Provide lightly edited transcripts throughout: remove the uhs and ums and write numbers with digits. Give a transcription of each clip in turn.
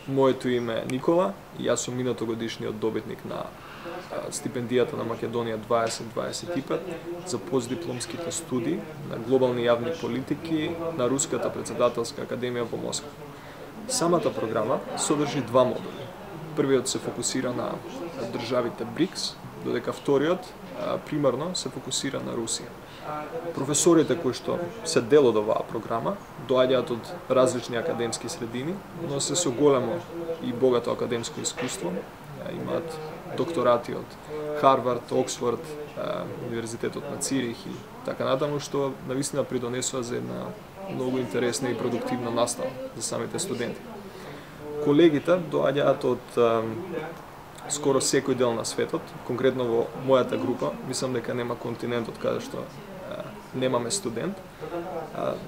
Моето име е Никола и јас сум минатогодишниот добитник на стипендијата на Македонија 2025 за постдипломските студии на глобални јавни политики на Руската председателска академија во Москва. Самата програма содржи два модули. Првиот се фокусира на државите БРИКС, додека вториот примарно се фокусира на Русија. Професорите кои што се дел од оваа програма доаѓаат од различни академски средини, но се со големо и богато академско искуство. Имаат докторати од Харвард, Оксфорд, Универзитетот на Цирих и така натаму, што навистина придонесува за една многу интересна и продуктивна настава за самите студенти. Колегите доаѓаат од скоро секој дел на светот, конкретно во мојата група, мислам дека нема континент од каде што немаме студент.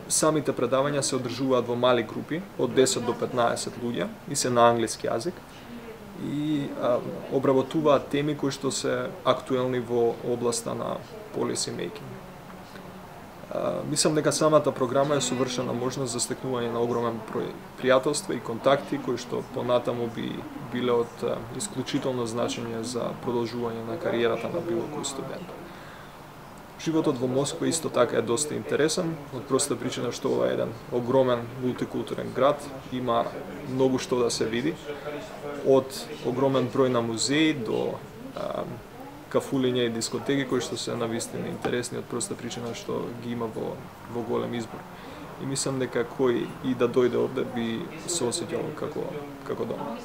Самите предавања се одржуваат во мали групи, од 10 до 15 луѓе и се на англиски јазик и обработуваат теми кои што се актуелни во областа на policy making. Мислам дека самата програма е совршена можност за стекнување на огромен број пријателства и контакти кои што понатаму би биле од исклучително значење за продолжување на кариерата на било кој студент. Животот во Москва исто така е доста интересен, од проста причина што ова е еден огромен мултикултурен град, има многу што да се види, од огромен број на музеи до кафулиња и дискотеки кои што се навистина интересни од проста причина што ги има во голем избор. И мислам дека кој и да дојде овде би се осеќал како дома.